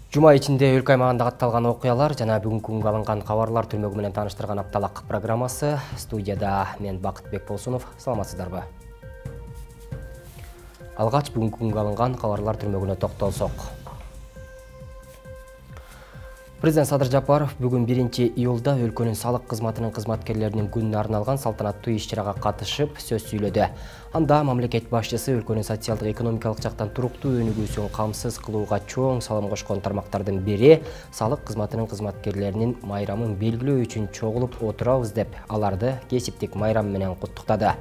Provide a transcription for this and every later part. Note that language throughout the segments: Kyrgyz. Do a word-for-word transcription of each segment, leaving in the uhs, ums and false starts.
Жума ичинде өлкө аймагында катталган окуялар жана бүгүнкү күнгө алынган кабарлар түрмөгү менен тааныштырган апталык программасы. Студияда мен Бакытбек Болсунов. Саламатсыздарбы? Алгач бүгүнкү күнгө алынган кабарлар түрмөгүнө токтолсок. Президент Садыр Жапаров бүгүн биринчи июлда өлкөнүн салык кызматынын кызматкерлеринин күнүнө арналган салтанаттуу иш-чарага катышып сөз сүйлөдү. Анда мамлекет башчысы өлкөнүн социалдык экономикалык жактан туруктуу өнүгүүсүн камсыз кылууга чоң салым кошкон тармактардын бири салык кызматынын кызматкерлеринин майрамын белгилөө үчүн чогулуп отурабыз деп аларды кесиптик майрам менен куттуктады.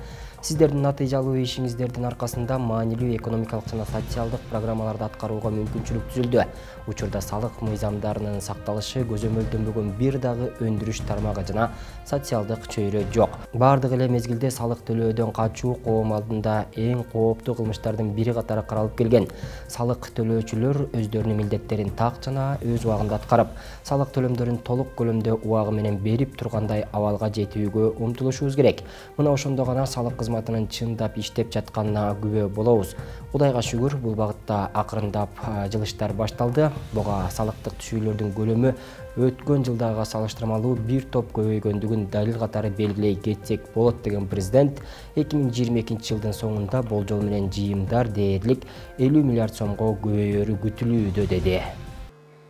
Сиздердин натыйжалуу ишиңиздердин аркасында маанилүү экономикалык жана социалдык программаларды аткарууга мүмкүнчүлүк түзүлдү. Учурда салык мыйзамдарынын сакталышы көзөмөлдөнбөгөн бир дагы өндүрүш тармагы жана социалдык чөйрө жок. Бардык эле мезгилде салык төлөөдөн качуу коом алдында эң кооптуу кылмыштардын бири катары каралып келген. Салык төлөөчүлөр өздөрүнүн милдеттерин так жана өз убагында аткарып, салык төлөмдөрүн толук көлөмдө убагы менен берип тургандай абалга жетүүгө умтулушубуз керек. Мына ошондо гана салык кызматынын чындап иштеп жатканына күбө болобуз. Кудайга шүгүр, бул багытта акырындап жылыштар башталды. Буга салыктык түшүүлөрдүн көлөмү өткөн жылдагыга салыштырмалуу бир топ көбөйгөндүгүн далил катары белгилей кетсек болот деген президент эки миң жыйырма экинчи жылдын соңунда болжол менен жыйымдар дээрлик элүү миллиард сомго көбөйөрү күтүлүүдө деди.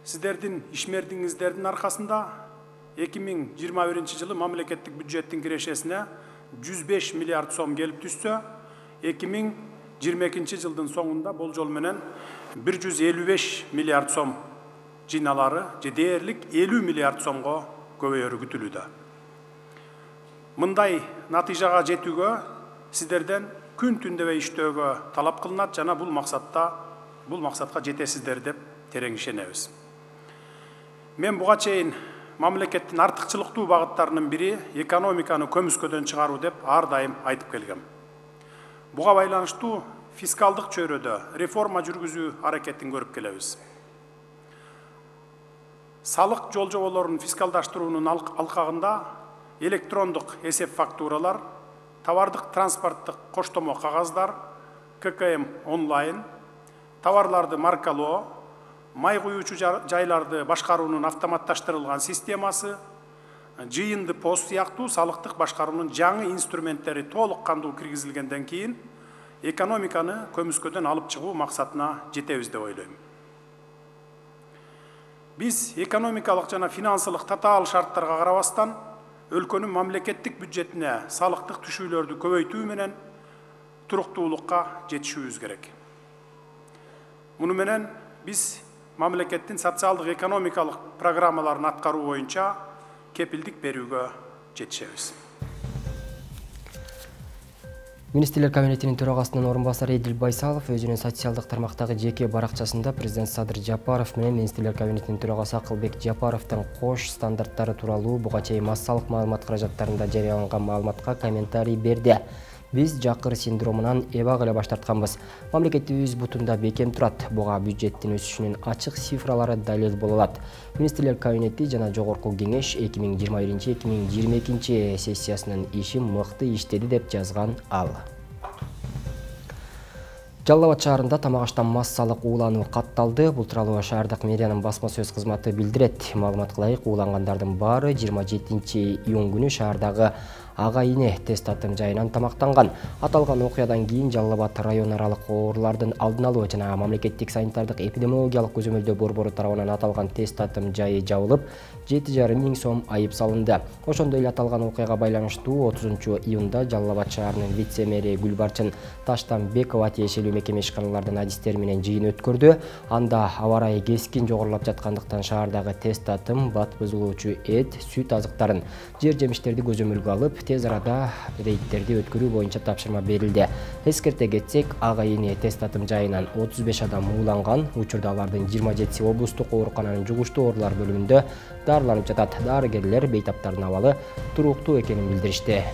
Сиздердин ишмердигиңиздердин аркасында эки миң жыйырма биринчи жылы мамлекеттик бюджеттин кирешесине жүз беш миллиард сом келип түшсө, эки миң жыйырма экинчи жылдын соңунда болжол менен бир жүз элүү беш миллиард сом жыйналары же дээрлик элүү миллиард сомго көбөйөрү күтүлүүдө. Мындай натыйжага жетүүгө сиздерден күн түндөбөй иштөөгө талап кылынат жана бул максатта бул максатка жетесиздер деп терең ишенебиз. Мен буга чейин мамлекеттин артыкчылыктуу багыттарынын бири экономиканы көмүскөдөн чыгаруу деп ар дайым айтып келгем. Буга байланыштуу фискалдык чөйрөдө реформа жүргүзүү аракетин көрүп келебиз. Салык жолжоболорун фискалдаштыруунун алкагында электрондук эсеп фактуралар, товардык транспорттук коштомо кагаздар, ка ка эм онлайн, товарларды маркалоо, май куюучу жайларды башкаруунун автоматташтырылган системасы, жыйынды пост сыяктуу салыктык башкаруунун жаңы инструменттери толук кандуу киргизилгенден кийин экономиканы көмүскөдөн алып чыгуу максатына жетебиз деп ойлойм. Биз экономикалык жана финансылык татаал шарттарга карабастан өлкөнүн мамлекеттик бюджетине салыктык түшүүлөрдү көбөйтүү менен туруктуулукка жетишүүбүз керек. Муну менен биз мамлекеттин социалдык экономикалык программаларын аткаруу боюнча кепилдик берүүгө жетишебиз. Министрлер кабинетинин төрагасынын орун басары Эдил Байсалов өзүнүн социалдык тармактагы жеке баракчасында президент Садыр Жапаров менен Министрлер кабинетинин төрагасы Акылбек Жапаровдун кош стандарттары тууралуу буга чейин массалык маалымат каражаттарында жарыяланган маалыматка комментарий берди. Биз жакыр синдромунан эбак эле баш тартканбыз. Мамлекетибиз бутунда бекем турат. Буга бюджеттин өсүшүнүн ачык цифралары далил боло алат. Министрлер кабинети жана жогорку кеңеш эки миң жыйырма биринчи эки миң жыйырма экинчи сессиясынын ишин мыкты иштеди деп жазган ал. Жалал Абад шаарында тамак аштан массалык уулануу катталды. Бул тууралуу шаардык мэриянын басма сөз кызматы билдирет. Маалыматка ылайык, уулангандардын баары жыйырма жетинчи июнь күнү шаардагы ага ине тест татым жайынан тамактанган. Аталган окуядан кийин Жалал Абад район аралык оорулардын алдын алуу жана мамлекеттик санитардык эпидемиологиялык көзөмөлдөө борбору тарабынан аталган тест татым жайы жабылып, жети жарым миң сом айып салынды. Ошондой эле аталган окуяга байланыштуу отузунчу июнда Жалал Абад шаарынын вице-мэри Гүлбарчын Таштанбекова тиешелүү мекеме ишканалардын адистери менен жыйын өткөрдү. Анда аба ырайы кескин жогорулап жаткандыктан шаардагы тест татым бат бузулуучу эт, сүт азыктарын, жер жемиштерди көзөмөлгө алып, тез арада рейдтерди өткөрүү боюнча тапшырма берилди. Эскерте кетсек, ага ине тест татым жайынан отуз беш адам ууланган. Учурда алардын жыйырма жетиси облустук оорукананын жугуштуу оорулар бөлүмүндө дарыланып жатат. Дарыгерлер бейтаптардын абалы туруктуу экенин билдиришти.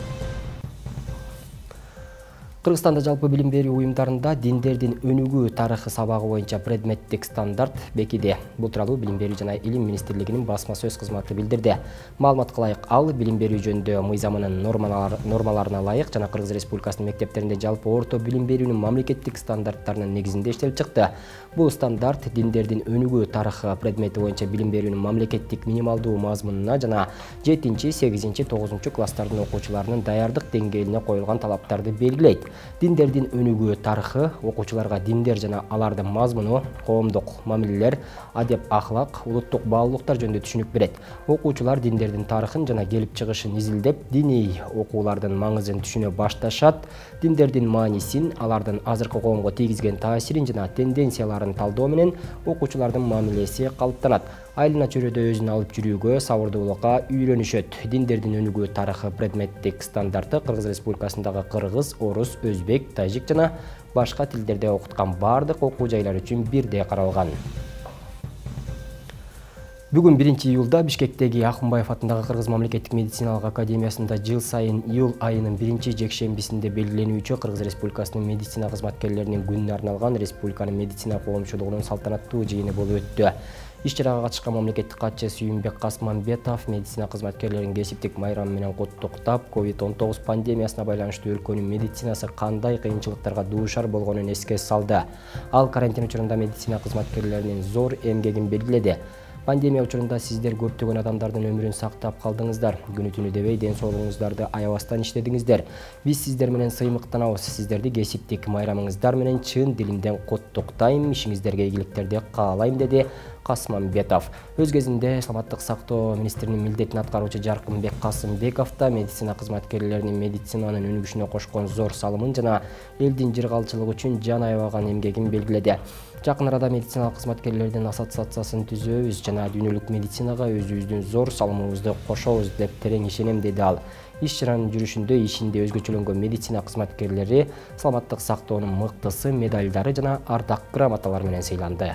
Кыргызстанда жалпы билим берүү уюмдарында диндердин өнүгүү тарыхы сабагы боюнча предметтик стандарт бекиди. Бул тууралуу Билим берүү жана Илим министрлигинин басма сөз кызматы билдирди. Маалыматка ылайык, ал билим берүү жөнүндө мыйзамынын нормаларына ылайык жана Кыргыз Республикасынын мектептеринде жалпы орто билим берүүнүн мамлекеттик стандарттарынын негизинде иштелип чыкты. Бул стандарт диндердин өнүгүү тарыхы предмети боюнча билим берүүнүн мамлекеттик минималдуу мазмунуна жана жетинчи, сегизинчи, тогузунчу класстардын окуучуларынын даярдык деңгээлине коюлган талаптарды белгилейт. Диндердин өнүгүү тарыхы окуучуларга диндер жана алардын мазмуну, коомдук мамилелер, адеп ахлак, улуттук баалуулуктар жөнүндө түшүнүк берет. Окуучулар диндердин тарыхын жана келип чыгышын изилдеп, диний окуулардын маңызын түшүнө башташат. Диндердин маанисин, алардын азыркы коомго тийгизген таасирин жана тенденцияларын талдоо менен окуучулардын мамилеси калыптанат. Айлана чөйрөдө өзүн алып жүрүүгө, сабырдуулукка үйрөнүшөт. Диндердин өнүгүү тарыхы предметтик стандарты Кыргыз Республикасындагы кыргыз, орус, өзбек, тажик жана башка тилдерде окуткан бардык окуу жайлар үчүн бирдей каралган. Бүгүн биринчи июлда Бишкектеги Акунбаев атындагы Кыргыз мамлекеттик медициналык академиясында жыл сайын июл айынын биринчи жекшембисинде белгиленүүчү Кыргыз Республикасынын медицина кызматкерлеринин күнүнө арналган республиканын медицина коомчулугунун салтанаттуу жыйыны болуп өттү. Иш-чарага катышкан мамлекеттик катчы Сүйүнбек Касманбетов медицина кызматкерлерин кесиптик майрамы менен куттуктап, ковид он тогуз пандемиясына байланыштуу өлкөнүн медицинасы кандай кыйынчылыктарга дуушар болгонун эске салды. Ал карантин учурунда медицина кызматкерлеринин зор эмгегин белгиледи. Пандемия учурунда сиздер көптөгөн адамдардын өмүрүн сактап калдыңыздар. Күнү түнү дебей ден соолугуңуздарды аябастан иштедиңиздер. Биз сиздер менен сыймыктанабыз. Сиздерди кесиптик майрамыңыздар менен чын дилимден куттуктайм, ишиңиздерге ийгиликтерди каалайм, деди Касманбетов. Өз кезинде Саламаттык сактоо министринин милдетин аткаруучу Жаркынбек Касымбеков да медицина кызматкерлеринин медицинанын өнүгүшүнө кошкон зор салымын жана элдин жыргалчылыгы үчүн жан аябаган эмгегин белгиледи. Жакын арада медициналык кызматкерлердин ассоциациясын түзөбүз жана дүйнөлүк медицинага өзүбүздүн зор салымыбызды кошобуз деп терең ишенем, деди ал. Иш-чаранын жүрүшүндө ишинде өзгөчөлөнгөн медицина кызматкерлери саламаттык сактоонун мыктысы, медалдары жана ардак грамоталар менен сыйланды.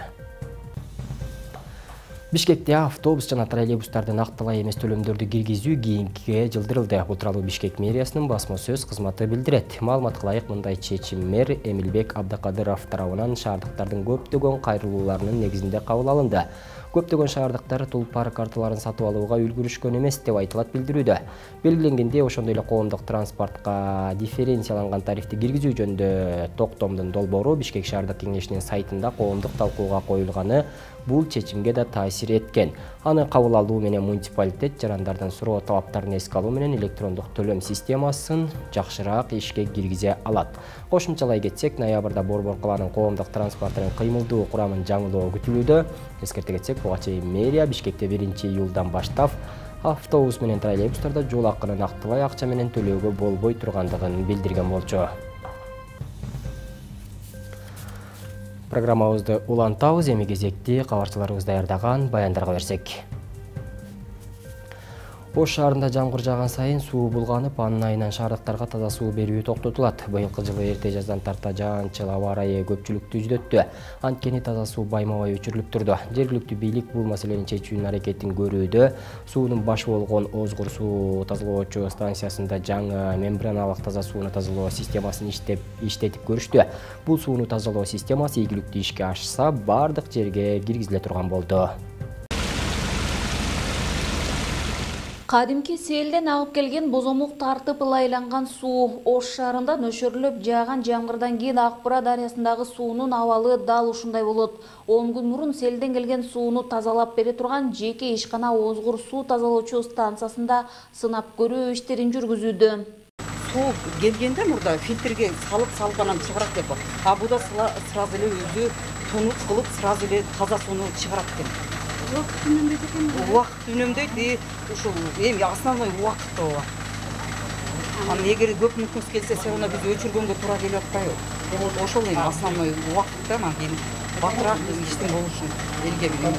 Бишкекте автобус жана троллейбустарды нактылай эмес төлөмдөрдү киргизүү кийинкиге жылдырылды. Бул тууралуу Бишкек мэриясынын басма сөз кызматы билдирет. Маалыматка ылайык, мындай чечим мэр Эмилбек Абдыкадыров тарабынан шаардыктардын көптөгөн кайрылууларынын негизинде кабыл алынды. Көптөгөн шаардыктар тулпар карталарын сатып алууга үлгүрүшкөн эмес деп айтылат билдирүүдө. Белгиленгендей, ошондой эле коомдук транспортко дифференцияланган тарифти киргизүү жөнүндө токтомдун долбоору Бишкек шаардык кеңешинин сайтында коомдук талкууга коюлганы бул чечимге да таасир эткен. Аны кабыл алуу менен муниципалитет жарандардын суроо талаптарын эске алуу менен электрондук төлөм системасын жакшыраак ишке киргизе алат. Кошумчалай кетсек, ноябрда Борбор калаанын коомдук транспортунун кыймылдуу курамын жаңылоо күтүлүүдө. Эскерте кетсек, буга чейин мэрия Бишкекте биринчи июлдан баштап автобус менен троллейбустарда жол акыны нактылай акча менен төлөөгө болбой тургандыгын билдирген болчу. Программабызды улантабыз, эми кезекти кабарчыларыбыз даярдаган баяндарга берсек. Ош шаарында жамгыр жааган сайын суу булганып, анын айынан шаардыктарга таза суу берүү токтотулат. Быйылкы жылы эрте жаздан тарта жаанчыл аба ырайы көпчүлүктү жүдөттү. Анткени таза суу байма-бай өчүрүлүп турду. Жергиликтүү бийлик бул маселени чечүүнүн аракетин көрүүдө. Суунун башы болгон Озгур суу тазалоочу станциясында жаңы мембраналык таза сууну тазалоо системасын иштеп иштетип көрүштү. Бул сууну тазалоо системасы ийгиликтүү ишке ашса, бардык жерге киргизиле турган болду. Кадимки селден агып келген бозомук тартып ылайланган суу Ош шаарында нөшөрлөп жааган жамгырдан кийин Акбура дарыясындагы суунун абалы дал ушундай болот. он күн мурун селден келген сууну тазалап бере турган жеке ишкана Озгур суу тазалоочу станциясында сынап көрүү иштерин жүргүзүүдө. Суу келгенде мурда фильтрге салып салып анан чыгарат деп. А буда сразу эле өзү тонут кылып сразу эле таза сууну чыгарат экен. Убакыт үнөмдөйт экен. Убакыт үнөмдөйт и ушул эми основной убакыт ооба. Анан эгер көп мүнөт келсе, сени биз өчүргөнгө туура келип атпайбы? Ошол эми основной убакытта анан кийин батыраак иштин болушун элге билем.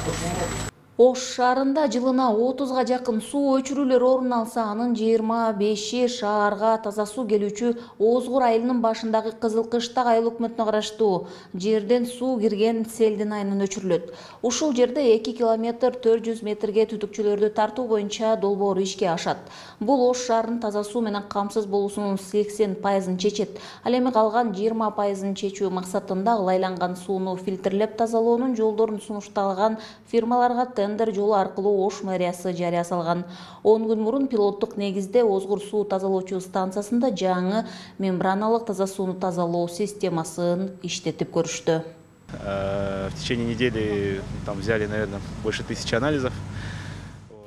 Ош шаарында жылына отузга жакын суу өчүрүүлөр орун алса, анын жыйырма беши шаарга таза суу келүүчү Озгур айылынын башындагы Кызыл Кыштак айыл өкмөтүнө караштуу жерден суу кирген Селдин айынан өчүрүлөт. Ушул жерде эки километр төрт жүз метрге түтүкчөлөрдү тартуу боюнча долбоор ишке ашат. Бул Ош шаарынын таза суу менен камсыз болуусунун сексен пайызын чечет. Ал эми калган жыйырма пайызын чечүү максатында ылайланган сууну фильтрлеп тазалоонун жолдорун сунушталган фирмаларга тендер жолу аркылуу Ош мэриясы жарыя салган. он күн мурун пилоттук негизде Озгур суу тазалоочу станциясында жаңы мембраналык таза сууну тазалоо системасын иштетип көрүштү. В течение недели там взяли, наверное, больше тысячи анализов.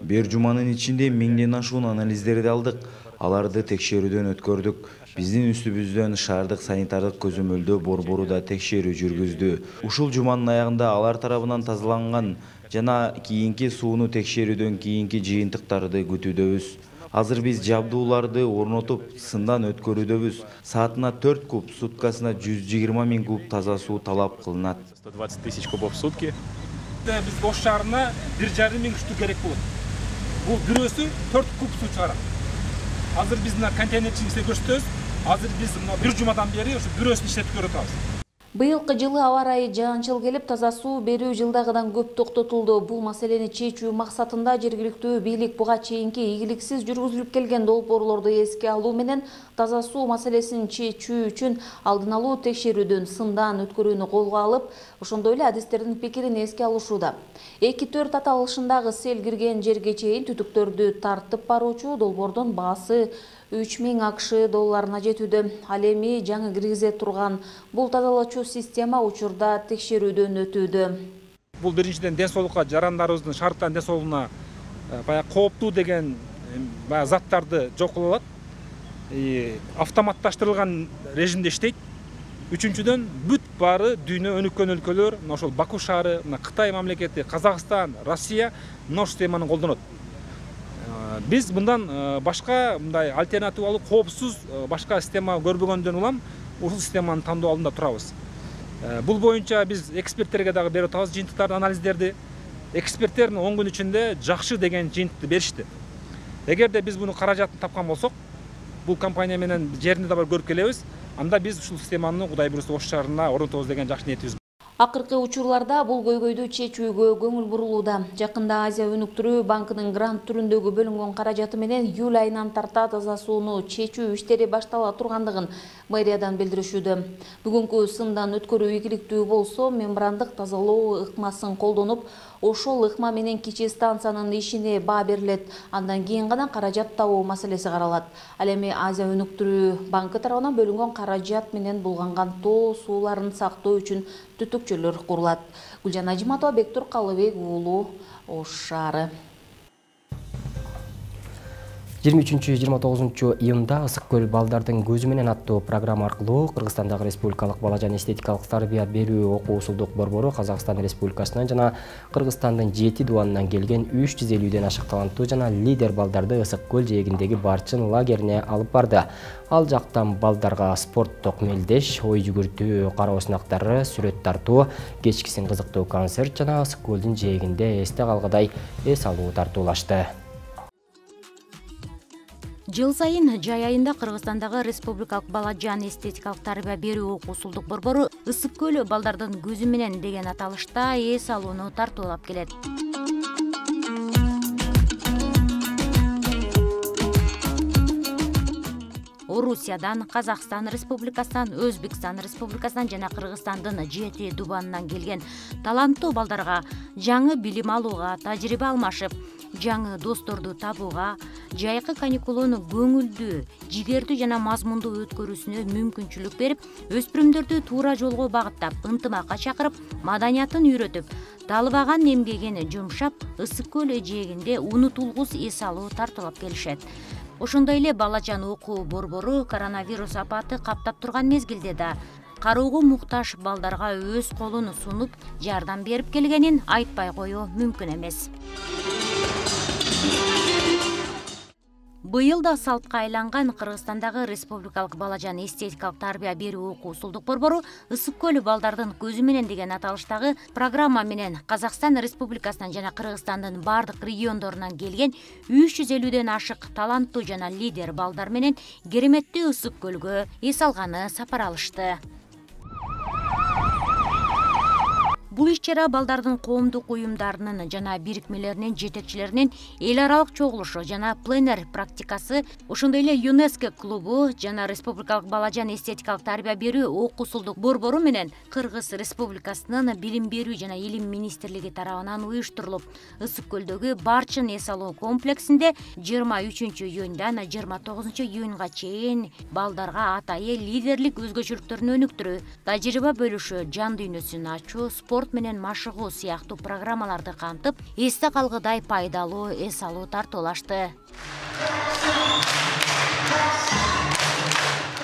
Бир жуманын ичинде миңден ашуун анализдерди алдык. Аларды текшерүүдөн өткөрдүк. Биздин үстүбүздөн шаардык санитардык көзөмөлдөө борбору да текшерүү жүргүздү. Ушул жуманын аягында алар тарабынан тазаланган жана кийинки сууну текшерүүдөн кийинки жыйынтыктарды күтүүдөбүз. Азыр биз жабдууларды орнотуп, сындан өткөрүүдөбүз. Саатына төрт куб, суткасына жүз жыйырма миң куб таза суу талап кылынат. сто двадцать тысяч кубов в сутки. Биз Ош шаарына бир жарым миң штук керек болот. Бул бирөөсү төрт куб суу чыгарат. Азыр биз мына контейнерчи иштеп көрсөтөбүз. Азыр биз мына бир жумадан бери ушу бирөөсүн иштетип көрүп атабыз. Быйылкы жылы аба ырайы жаанчыл келип, таза суу берүү жылдагыдан көп токтотулду. Бул маселени чечүү максатында жергиликтүү бийлик буга чейинки ийгиликсиз жүргүзүлүп келген долбоорлорду эске алуу менен таза суу маселесин чечүү үчүн алдын алуу текшерүүдөн, сындан өткөрүүнү колго алып, ошондой эле адистердин пикирин эске алышууда. эки төрт аталышындагы сел кирген жерге чейин түтүктөрдү тартып баруучу долбоордун баасы үч миң акш долларына жетүүдө. Ал эми жаңы киргизе турган бул тазалоочу система учурда текшерүүдөн өтүүдө. Бул биринчиден ден соолукка, жарандарыбыздын, шаардыктардын ден соолугуна баягы кооптуу деген баягы заттарды жок кыла алат. Автоматташтырылган режимде иштейт. Үчүнчүдөн бүт баары дүйнө өнүккөн өлкөлөр, мына ошол Баку шаары, мына Кытай мамлекети, Казакстан, Россия мына ушул системаны колдонот. Биз мындан башка мындай альтернативалуу, коопсуз башка система көрбөгөндөн улам ушул системаны тандоо алдында турабыз. Бул боюнча биз эксперттерге дагы берип атабыз жыйынтыктарды, анализдерди. Эксперттер он күн ичинде жакшы деген жыйынтыкты беришти. Эгерде биз буну каражатын тапкан болсок, бул компания менен жеринде да бар көрүп келебиз. Анда биз ушул системаны Кудай буйруса Ош шаарына орнотобуз деген жакшы ниетибиз. Акыркы учурларда бул көйгөйдү чечүүгө көңүл бурулууда. Жакында Азия өнүктүрүү банкынын грант түрүндөгү бөлүнгөн каражаты менен июль айынан тарта таза сууну чечүү иштери баштала тургандыгын мэриядан билдиришүүдө. Бүгүнкү сындан өткөрүү ийгиликтүү болсо, мембрандык тазалоо ыкмасын колдонуп, ошол ыкма менен кичи станциянын ишине баа берилет. Андан кийин гана каражат табуу маселеси каралат. Ал эми Азия өнүктүрүү банкы тарабынан бөлүнгөн каражат менен булганган тоо сууларын сактоо үчүн түтүкчөлөр курулат. Гүлжан Ажиматова, Бектур Калыбек уулу, Ош шаары. жыйырма үчүнчү жыйырма тогузунчу июнда Ысык көл балдардын көзү менен аттуу программа аркылуу Кыргызстандагы Республикалык бала жана эстетикалык тарбия берүү окуу усулдук борбору Казакстан Республикасынан жана Кыргызстандын жети дубанынан келген үч жүз элүүдөн ашык таланттуу жана лидер балдарды Ысык көл жээгиндеги Барчын лагерине алып барды. Ал жактан балдарга спорттук мелдеш, ой жүгүртүү, кароо сынактары, сүрөт тартуу, кечкисин кызыктуу концерт жана Ысык көлдүн жээгинде эсте калгыдай эс алуу тартуулашты. Жыл сайын жай айында Кыргызстандагы Республикалык бала жана эстетикалык тарбия берүү окуу усулдук борбору Ысык көл балдардын көзү менен деген аталышта эс алууну тартуулап келет. Орусиядан, Казакстан Республикасынан, Өзбекстан Республикасынан жана Кыргызстандын жети дубанынан келген таланттуу балдарга жаңы билим алууга, тажрыйба алмашып, жаңы досторду табууга, жайкы каникулууну көңүлдүү, жигердүү жана мазмундуу өткөрүүсүнө мүмкүнчүлүк берип, өспүрүмдөрдү туура жолго багыттап, ынтымакка чакырып, маданиятын үйрөтүп, талыбаган эмгегин жумшап, Ысык көл жээгинде унутулгус эс алуу тартуулап келишет. Ошондой эле бала жана окуу борбору коронавирус апаты каптап турган мезгилде да кароого муктаж балдарга өз колун сунуп, жардам берип келгенин айтпай коюу мүмкүн эмес. Быйыл да салтка айланган Кыргызстандагы Республикалык балажан эстетикалык тарбия берүү окуу усулдук борбору ысык көл балдардын көзү менен деген аталыштагы программа менен Казакстан Республикасынан жана Кыргызстандын бардык региондорунан келген үч жүз элүүдөн ашык таланттуу жана лидер балдар менен кереметтүү ысык көлгө эс алганы сапар алышты. Бул иш-чара балдардын коомдук уюмдарынын жана бирикмелеринин жетекчилеринин эл аралык чогулушу жана пленер практикасы, ошондой эле ЮНЕСКО клубу жана Республикалык балажан эстетикалык тарбия берүү окуу усулдук борбору менен Кыргыз Республикасынын билим берүү жана илим министрлиги тарабынан уюштурулуп, ысык көлдөгү Барчын эс алуу комплексинде жыйырма үчүнчү июндан жыйырма тогузунчу июнга чейин балдарга атайын лидерлик өзгөчөлүктөрүн өнүктүрүү, тажрыйба бөлүшүү, жан дүйнөсүн ачуу, спорт менен машыгуу сыяктуу программаларды кантып, эсте калгыдай пайдалуу эс алуу тартуулашты.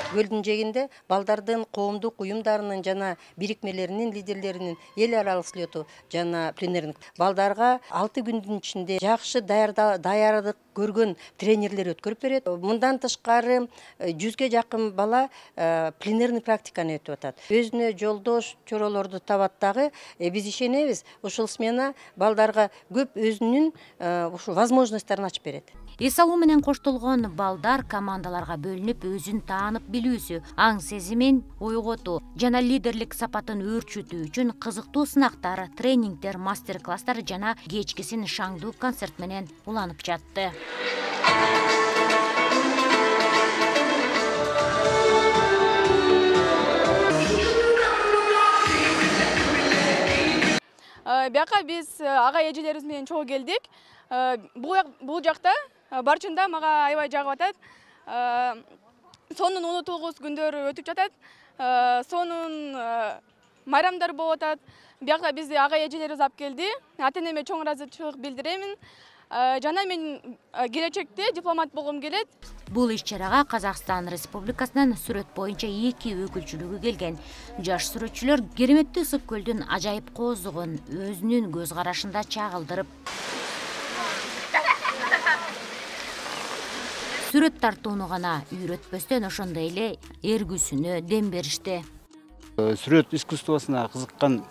Көлдүн жээгинде балдардын коомдук уюмдарынын жана бирикмелеринин лидерлеринин эл аралык слету жана пленердик балдарга алты күндүн ичинде жакшы даярдык көргөн тренерлер өткөрүп берет. Мындан тышкары жүзгө жакын бала пленерный практиканы өтүп атат. Өзүнө жолдош чоролорду табат дагы. Биз ишенебиз, ушул смена балдарга көп өзүнүн ушу возможностторун ачып берет. Эс алуу менен коштолгон балдар командаларга бөлүнүп, өзүн таанып билүүсү, аң сезимин ойготуу жана лидерлик сапатын өөрчүтүү үчүн кызыктуу сынактар, тренингдер, мастер-класстар жана кечкисин шаңдуу концерт менен уланып жатты. Бияка биз ага эжелерибиз менен чогуу келдик. Бул жакта Барчында мага аябай жагып атат. Сонун унутулгус күндөр өтүп жатат. Сонун майрамдар болуп атат. Бияка бизди ага эжелерибиз алып келди. Ата-энеме чоң ыраазычылык билдиремин. Жана мен келечекте дипломат болгум келет. Бул иш-чарага Казакстан Республикасынан сүрөт боюнча эки өкүлчүлүгү келген. Жаш сүрөтчүлөр кереметтүү ысык көлдүн ажайып кооздугун өзүнүн көз карашында чагылдырып, сүрөт тартууну гана үйрөтпөстөн ошондой эле эргүүсүнө дем беришти. Сүрөт искусствосуна кызыккан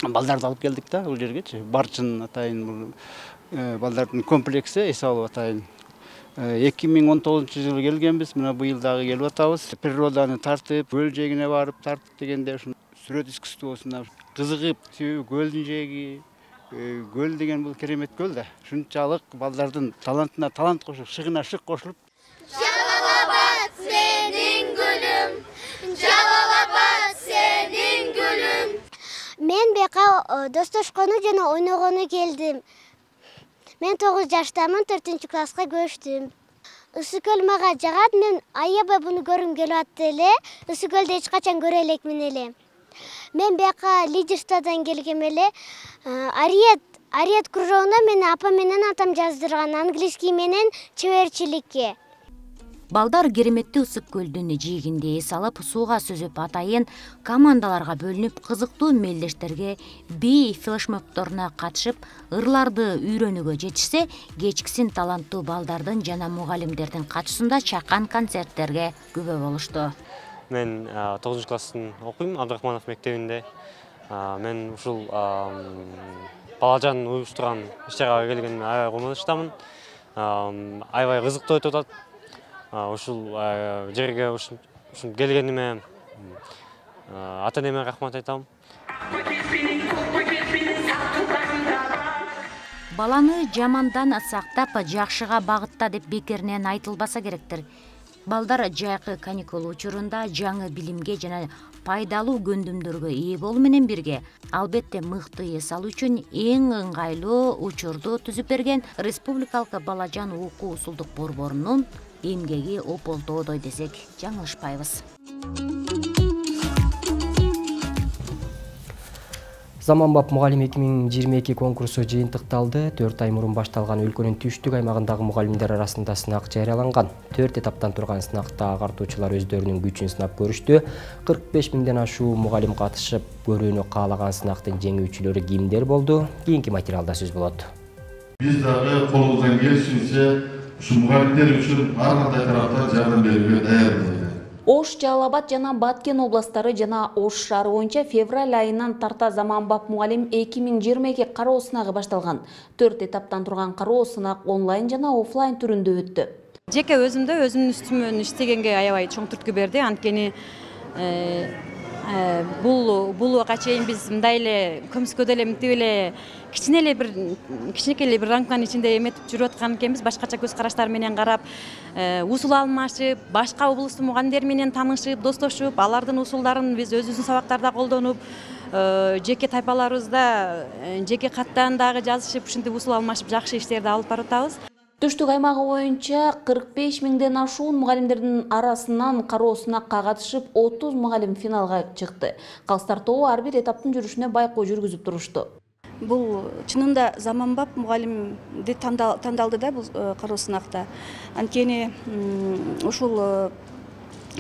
балдарды алып келдик да бул жергечи. Барчын атайын балдардын комплекси эс алуу атайын. эки миң он тогузунчу жылы келгенбиз, мына быйыл дагы келип атабыз. Природаны тартып, көл жээгине барып тартып дегенде ушун сүрөт искусствосуна кызыгып, себеби көлдүн жээги, көл деген бул керемет көл да. Ушунчалык балдардын талантына талант кошуп, шыгына шык кошулуп, Жалал-Абад сенин гүлүм, Жалал-Абад сенин гүлүм. Мен бияка достошкону жана ойногону келдим. Мен тогуз жаштамын, төртүнчү класска көчтүм. Ысык көл мага жагат, мен аябай буну көргүм келип атты эле. Ысык көлдү эч качан көрө элекмин эле. Мен бияка лидерстводон келгем эле. Ариет, Ариет кружогуна мени апа менен атам жаздырган, английский менен чеберчиликке. Балдар кереметтүү ысык көлдүн жээгинде эс алып, сууга сүзүп, атайын командаларга бөлүнүп, кызыктуу мелдештерге, би флешмобторуна катышып, ырларды үйрөнүүгө жетишсе, кечкисин таланттуу балдардын жана мугалимдердин катышуусунда чакан концерттерге күбө болушту. Мен тогузунчу класстын окуйм, Абдрахманов мектебинде. Мен ушул балажан уюштурган иш-чарага келгениме аябай кубанычтамын. Аябай кызыктуу өтүп атат. Ушул жерге ушун келгениме ата-энеме рахмат айтам. Баланы жамандан сактап, жакшыга багытта деп бекеринен айтылбаса керектир. Балдар жайкы каникул учурунда жаңы билимге жана пайдалуу көндүмдөргө ээ болуу менен бирге, албетте мыкты эс алуу үчүн эң ыңгайлуу учурду түзүп берген Республикалык балажан окуу усулдук борборунун эмгеги ополтоодой десек жаңылышпайбыз. Заманбап мугалим эки миң жыйырма эки конкурсу жыйынтыкталды. төрт ай мурун башталган өлкөнүн түштүк аймагындагы мугалимдер арасында сынак жарыяланган. төрт этаптан турган сынакта агартуучулар өздөрүнүн күчүн сынап көрүштү. кырк беш миңден ашуу мугалим катышып, көрүүнү каалаган сынактын жеңүүчүлөрү кимдер болду? Кийинки материалда сөз болот. Биз дагы колубуздан келишинче ушу мугалимдер үчүн ар кандай тараптан жардам берүүгө даярбыз. Ош, Жалал Абад жана Баткен областары жана Ош шаары боюнча февраль айынан тарта заманбап мугалим эки миң жыйырма эки кароо сынагы башталган. төрт этаптан турган кароо сынак онлайн жана офлайн түрүндө өттү. Жеке өзүмдө өзүмдүн үстүмөн иштегенге аябай чоң түрткү берди. Анткени бул бул убакка чейин биз мындай эле көмүскөдө эле мынтип эле кичине эле бир кичинекей эле бир рамканын ичинде эметип жүрүп аткан экенбиз. Башкача көз караштар менен карап, усул алмашып, башка облустун мугалимдери менен таанышып, достошуп, алардын усулдарын биз өзүбүздүн сабактарда колдонуп, жеке тайпаларыбызда жеке каттан дагы жазышып, ушинтип усул алмашып, жакшы иштерди алып барып атабыз. Түштүк аймагы боюнча кырк беш миңден ашуун мугалимдердин арасынан кароо сынакка катышып, отуз мугалим финалга чыкты. Калыстар тобу ар бир этаптын жүрүшүнө байкоо жүргүзүп турушту. Бул чынында заманбап мугалимди тандалды да бул кароо сынакта. Анткени ушул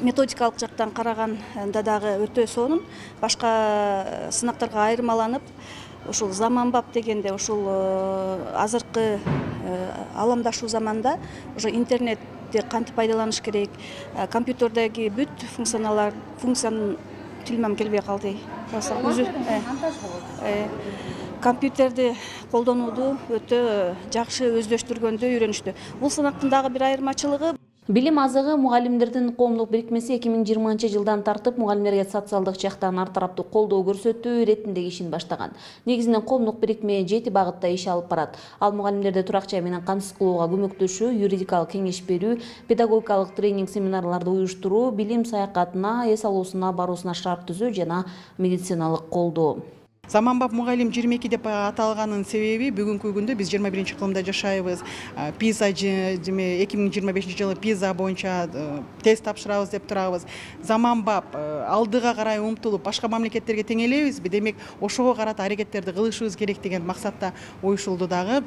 методикалык жактан караганда дагы өтө сонун, башка сынактарга айырмаланып, ушул заманбап дегенде ушул азыркы аламдашуу заманда уже интернетти кантип пайдаланыш керек, компьютердеги бүт функционалар функциянын тилмем келбей калды. Компьютерди колдонууду өтө жакшы өздөштүргөндү үйрөнүштү. Бул сынактын дагы бир айырмачылыгы Билим азыгы мугалимдердин коомдук бирикмеси эки миң жыйырманчы жылдан тартып мугалимдерге социалдык жактан ар тараптуу колдоо көрсөтүү иретиндеги ишин баштаган. Негизинен коомдук бирикме жети багытта иш алып барат. Ал мугалимдерди турак жай менен камсыз кылууга көмөктөшүү, юридикалык кеңеш берүү, педагогикалык тренинг семинарларды уюштуруу, билим саякатына, эс алуусуна баруусуна шарт түзүү жана медициналык колдоо. Заманбап мугалим жыйырма эки деп аталганын себеби бүгүнкү күндө биз жыйырма биринчи кылымда жашайбыз. Пиза эки миң жыйырма бешинчи жылы Пиза боюнча тест тапшырабыз деп турабыз. Заманбап алдыга карай умтулуп, башка мамлекеттерге тең элебизби? Демек, ошого карата аракеттерди кылышыбыз керек деген максатта уюшулду дагы.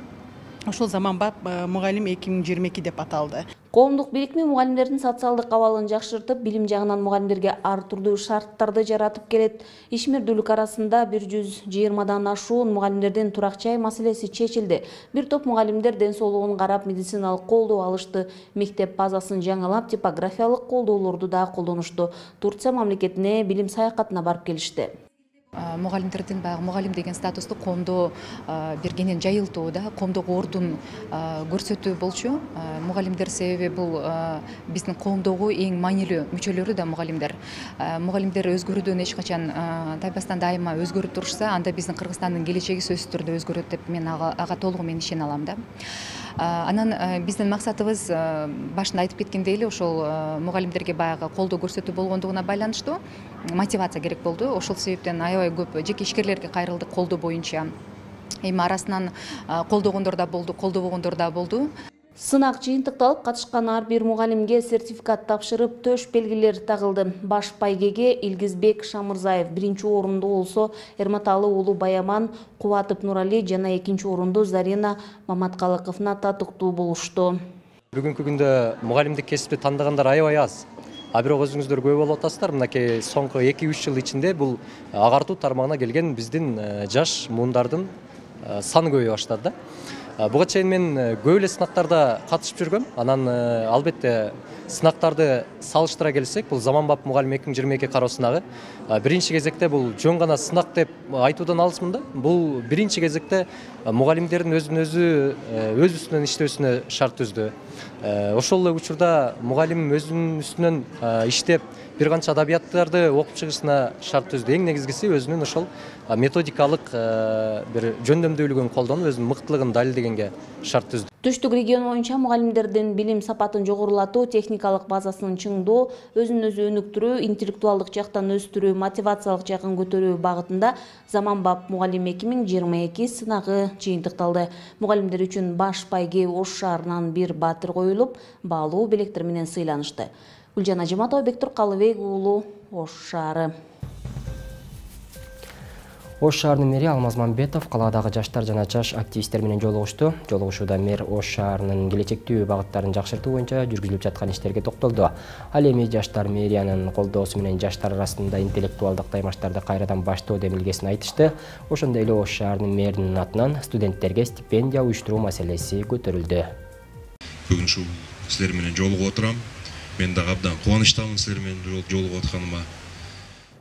Ошол заманбап мугалим эки миң жыйырма эки деп аталды. Коомдук бирикме мугалимдердин социалдык абалын жакшыртып, билим жагынан мугалимдерге ар түрдүү шарттарды жаратып келет. Ишмердүүлүк арасында бир жүз жыйырмадан ашуун мугалимдердин турак жай маселеси чечилди. Бир топ мугалимдер ден соолугун карап, медициналык колдоо алышты. Мектеп базасын жаңылап, типографиялык колдоолорду да колдонушту. Турция мамлекетине билим саякатына барып келишти. Мугалимдердин баягы мугалим деген статусту коомдо бир кенен жайылтуу да, коомдогу ордун көрсөтүү болчу. Мугалимдер себеби бул биздин коомдогу эң маанилүү мүчөлөрү да мугалимдер. Мугалимдер өзгөрүүдөн эч качан тайбастан дайыма өзгөрүп турушса, анда биздин Кыргызстандын келечеги сөзсүз түрдө өзгөрөт деп мен ага толугу менен ишене алам да. Анан биздин максатыбыз башында айтып кеткендей эле ошол мугалимдерге баягы колдоо көрсөтүү болгондугуна байланыштуу мотивация керек болду. Ошол себептен аябай көп жеке ишкерлерге кайрылдык колдоо боюнча. Эми арасынан колдогондор да болду, колдобогондор да болду. Сынак жыйынтыкталып, катышкан ар бир мугалимге сертификат тапшырып, төш белгилер тагылды. Баш байгеге Илгизбек Шамырзаев биринчи орунду болсо, Эрматалы уулу Баяман Кубатов Нурали жана экинчи орунду Зарина Маматкалыковна татыктуу болушту. Бүгүнкү күндө мугалимдик кесипти тандагандар аябай аз. А бирок өзүңүздөр күбө болуп атасыздар, мынакей соңку эки үч жыл ичинде бул агартуу тармагына келген биздин жаш муундардын саны көбөйө баштады да. Буга чейин мен көп эле сынактарда катышып жүргөм. Анан албетте сынактарды салыштыра келсек, бул заманбап мугалим эки миң жыйырма эки кароо сынагы биринчи кезекте бул жөн гана сынак деп айтуудан алысмын да. Бул биринчи кезекте мугалимдердин өзүн өзү өз үстүнөн иштөөсүнө шарт түздү. Ошол эле учурда мугалим өзүнүн үстүнөн иштеп бир канча адабияттарды окуп чыгышына шарт түздү. Эң негизгиси өзүнүн ошол методикалык бир жөндөмдүүлүгүн колдонуп, өзүнүн мыктылыгын далилдегенге шарт түздү. Түштүк регион боюнча мугалимдердин билим сапатын жогорулатуу, техникалык базасын чыңдоо, өзүн өзү өнүктүрүү, интеллектуалдык жактан өстүрүү, мотивациялык жагын көтөрүү багытында заманбап мугалим эки миң жыйырма эки сынагы жыйынтыкталды. Мугалимдер үчүн баш байге Ош шаарынан бир баатыр коюлуп, баалуу белектер менен сыйланышты. Гүлжан Ажыматова, Бектур Калыбек уулу, Ош шаары. Ош шаарынын мэри Алмаз Мамбетов калаадагы жаштар жана жаш активисттер менен жолугушту. Жолугушууда мэр Ош шаарынын келечектүү багыттарын жакшыртуу боюнча жүргүзүлүп жаткан иштерге токтолду. Ал эми жаштар мэриянын колдоосу менен жаштар арасында интеллектуалдык таймаштарды кайрадан баштоо демилгесин айтышты. Ошондой эле Ош шаарынын мэринин атынан студенттерге стипендия уюштуруу маселеси көтөрүлдү. бүгүн ушул силер менен жолугуп отурам. Мен дагы абдан кубанычтамын силер менен жолугуп атканыма.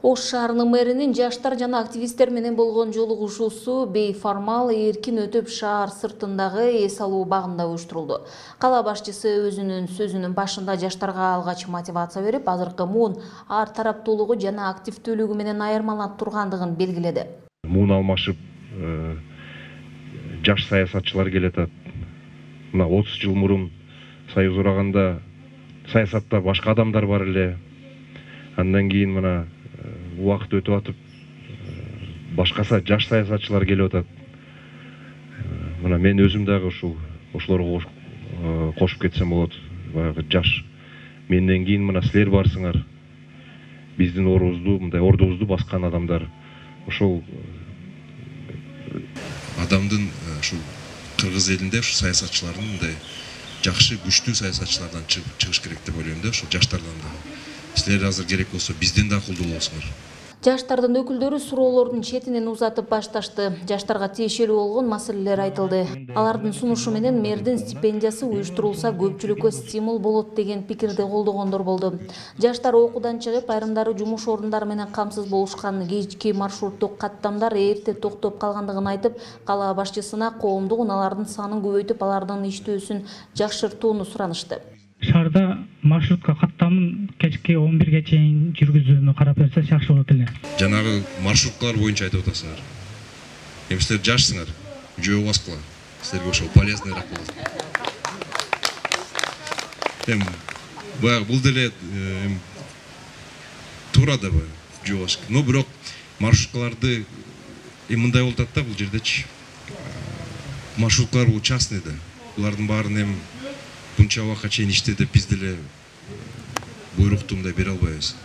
Ош шаарынын мэринин жаштар жана активисттер менен болгон жолугушуусу бейформал эркин өтүп шаар сыртындагы эс алуу багында уюштурулду. Кала башчысы өзүнүн сөзүнүн башында жаштарга алгач мотивация берип, азыркы муун ар тараптуулугу жана активдүүлүгү менен айырмаланып тургандыгын белгиледи. Муун алмашып жаш саясатчылар келатат. Мына отуз жыл мурун союз ураганда саясатта башка адамдар бар эле. Андан кийин мына убакыт өтүп атып башкаса жаш саясатчылар келип атат. Мына мен өзүм дагы ушул ошолорго кошуп кетсем болот. Баягы жаш. Менден кийин мына силер барсыңар. Биздин орубузду, мындай ордубузду баскан адамдар. Ошол адамдын ушул кыргыз элинде ушу саясатчылардын мындай жакшы, күчтүү саясатчылардан чыгыш керек деп ойлойм да, ошол жаштардан да. Силер азыр керек болсо бизден да кулдуу болсуңар. Жаштардын өкүлдөрү суроолордун четинен узатып башташты. Жаштарга тиешелүү болгон маселелер айтылды. Алардын сунушу менен мэрдин стипендиясы уюштурулса көпчүлүккө стимул болот деген пикирди колдогондор болду. Жаштар окуудан чыгып, айрымдары жумуш орундары менен камсыз болушкан, кечки маршруттук каттамдар эрте токтоп калгандыгын айтып, кала башчысына коомдук унаалардын санын көбөйтүп, алардын иштөөсүн жакшыртууну суранышты. Шаарда маршрутка каттамын кечки он бирге чейин жүргүзүүнү карап берсе жакшы болот эле. Жанагы маршруткалар боюнча айтып атасыңар. Эми силер жашсыңар, жөө баскыла. Силерге ошол полезныйраак болот. Эми баягы бул деле туура да баягы жөө басыш. Но бирок маршруткаларды эми мындай болуп атат да бул жердечи. Маршруткалар бул частный да. Булардын баарын эми buncha убакытка чейин иште деп биз деле буйрукту мындай бере албайбыз.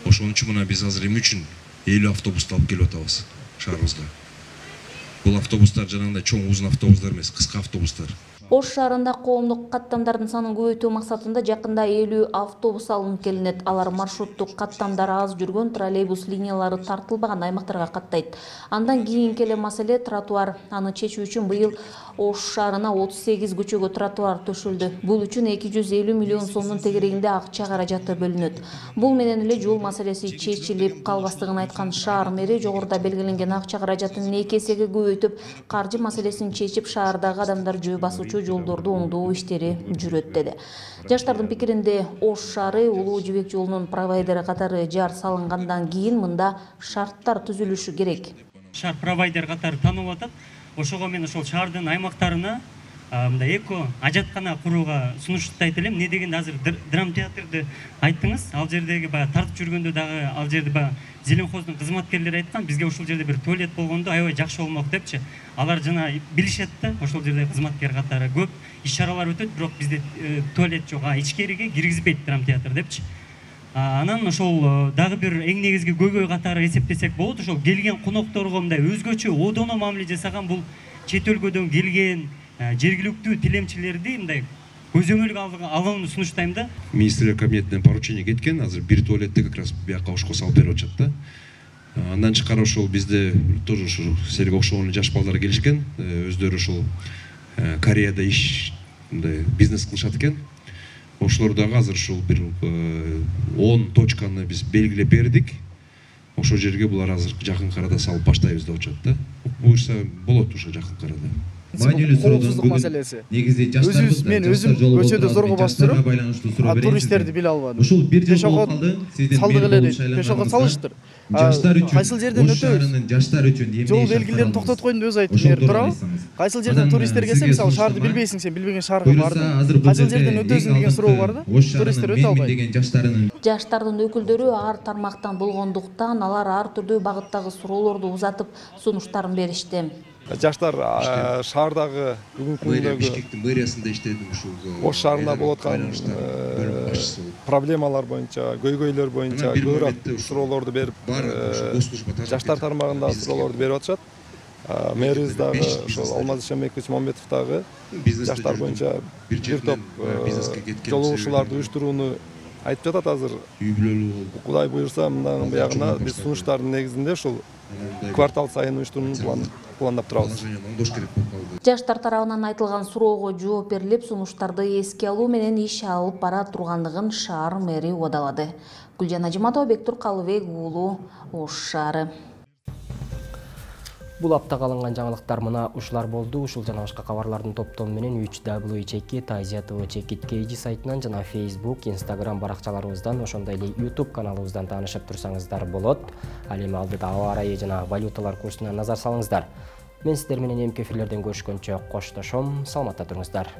Ошон үчүн мына биз азыр эмне үчүн элүү автобусту алып келип атабыз шаарыбызга. Бул автобустар жанагындай чоң узун автобустар эмес, кыска автобустар. Ош шаарында коомдук каттамдардын санын көбөйтүү максатында жакында элүү автобус алынып келинет. Алар маршруттук каттамдары аз жүргөн троллейбус линиялары тартылбаган аймактарга каттайт. Андан кийинки эле маселе тротуар. Аны чечүү үчүн быйыл Ош шаарына отуз сегиз көчөгө тротуар төшөлдү. Бул үчүн эки жүз элүү миллион сомдун тегерегинде акча каражаты бөлүнөт. Бул менен эле жол маселеси чечилип калбастыгын айткан шаар мэри жогоруда белгиленген акча каражатын эки эсеге көбөйтүп, каржы маселесин чечип, шаардагы адамдар жөө басуучу жолдорду оңдоо иштери жүрөт деди. Жаштардын пикиринде Ош шаары Улуу Жибек жолунун провайдери катары жар салынгандан кийин мында шарттар түзүлүшү керек. Шаар провайдер катары танылып атат. Ошого мен ошол шаардын аймактарына мындай эко ажаткана курууга сунуштайт элем. Эмне дегенде азыр драм театрды айттыңыз. Ал жердеги баягы тартып жүргөндө дагы ал жерде баягы Зеленхоздун кызматкерлери айткан, бизге ушул жерде бир туалет болгондо аябай жакшы болмок депчи. Алар жана билишет да, ошол жерде кызматкер катары көп иш-чаралар өтөт, бирок бизде туалет жок. А ичкериге киргизбейт драм театр депчи. Анан ошол дагы бир эң негизги көйгөй катары эсептесек болот. Ошол келген конокторго мындай өзгөчө одоно мамиле жасаган бул чет өлкөдөн келген жергиликтүү тилемчилерди мындай көзөмөлгө алууну сунуштайм да. Министрлер кабинетинен поручение кеткен, азыр бир туалетти как раз бияка Ошко салып берип атышат да. Андан тышкары ошол бизде тоже ушул силерге окшогон жаш балдар келишкен, өздөрү ушул Кореяда иш мындай бизнес кылышат экен. Ошолор дагы азыр ушул бир он точканы биз белгилеп бердик. Ошол жерге булар азыр жакын арада салып баштайбыз деп атышат да. Буюрса болот ушу жакын арада. Маанилүү суроодон маселеси. Негизи жаштарыбыз мен өзүм көчөдө зорго басып жүрөм. Туристтерди биле албадым. Ушул бир жыл болуп калды. Сиздин пешоход салыштыр. Жаштар үчүн, кайсыл жерден өтөбүз? Жаштар үчүн эмне жол белгилерин токтотуп койдум деп өзү айтып берип турабы? Кайсыл жерден туристтер келсе, мисалы шаарды билбейсиң, сен билбеген шаарга барды. Кайсыл жерден өтөсүң деген суроо бар да. Туристтер өтө албайт. Жаштардын өкүлдөрү ар тармактан болгондуктан алар ар түрдүү багыттагы суроолорду узатып, сунуштарын беришти. Жаштар шаардагы бүгүнкү күндөгү Бишкектин мэриясында иштедим ушул Ош шаарында болуп аткан проблемалар боюнча, көйгөйлөр боюнча көбүрөөк суроолорду берип, жаштар тармагында суроолорду берип атышат. Мэрибиз дагы ошол Алмаз Ишенбекович Мамбетов дагы жаштар боюнча бир топ жолугушууларды уюштурууну айтып жатат азыр. Кудай буйрса, мындан буягына биз сунуштардын негизинде ушул квартал сайын уюштурууну план пландап турабыз. Жаштар тарабынан айтылган суроого жооп берилип, сунуштарды эске алуу менен иш алып бара тургандыгын шаар мэри убадалады. Гүлжан Ажиматова, Бектур Калыбек уулу, Ош шаары. Бул аптага алынган жаңылыктар мына ушулар болду. Ушул жана башка кабарлардын топтому менен үч дабл ю чекит азия тэ вэ чекит кей джи сайтынан жана Facebook, Instagram баракчаларыбыздан, ошондой эле YouTube каналыбыздан таанышып турсаңыздар болот. Ал эми алдыда аба ырайы жана валюталар курсуна назар салыңыздар. Мен сиздер менен эмки эфирлерден көрүшкөнчө коштошом. Саламатта туруңуздар.